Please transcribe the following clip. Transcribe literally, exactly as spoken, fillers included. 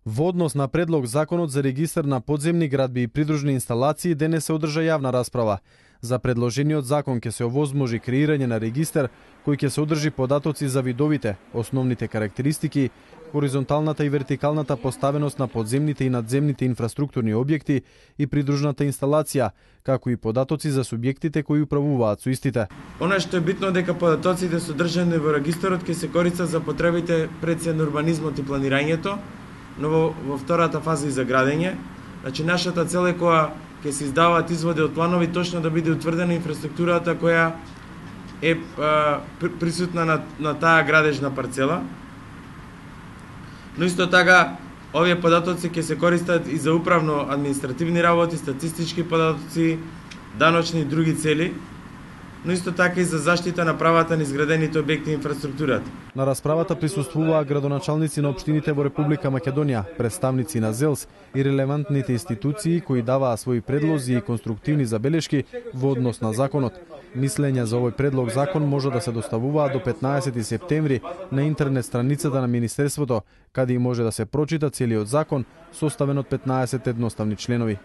Во однос на предлог законот за регистар на подземни градби и придружни инсталации денес се одржа јавна расправа. За предложениот закон ќе се овозможи креирање на регистар кој ќе се одржи податоци за видовите, основните карактеристики, хоризонталната и вертикалната поставеност на подземните и надземните инфраструктурни објекти и придружната инсталација, како и податоци за субјектите кои управуваат со истите. Она што е битно дека податоците содржани во регистарот ќе се користат за потребите пред се на урбанизмот и планирањето, но во, во втората фаза и за градење. Значи, нашата цел е која ќе се издаваат изводи од планови точно да биде утврдена инфраструктурата која е а, присутна на, на таа градежна парцела. Но исто така, овие податоци ќе се користат и за управно административни работи, статистички податоци, даночни и други цели, но исто така и за заштита на правата на изградените објекти и инфраструктурата. На расправата присуствуваа градоначалници на општините во Република Македонија, представници на ЗЕЛС и релевантните институции кои даваа своји предлози и конструктивни забелешки во однос на законот. Мислења за овој предлог закон може да се доставуваат до петнаесети септември на интернет страницата на Министерството, каде и може да се прочита целиот закон, составен од петнаесет едноставни членови.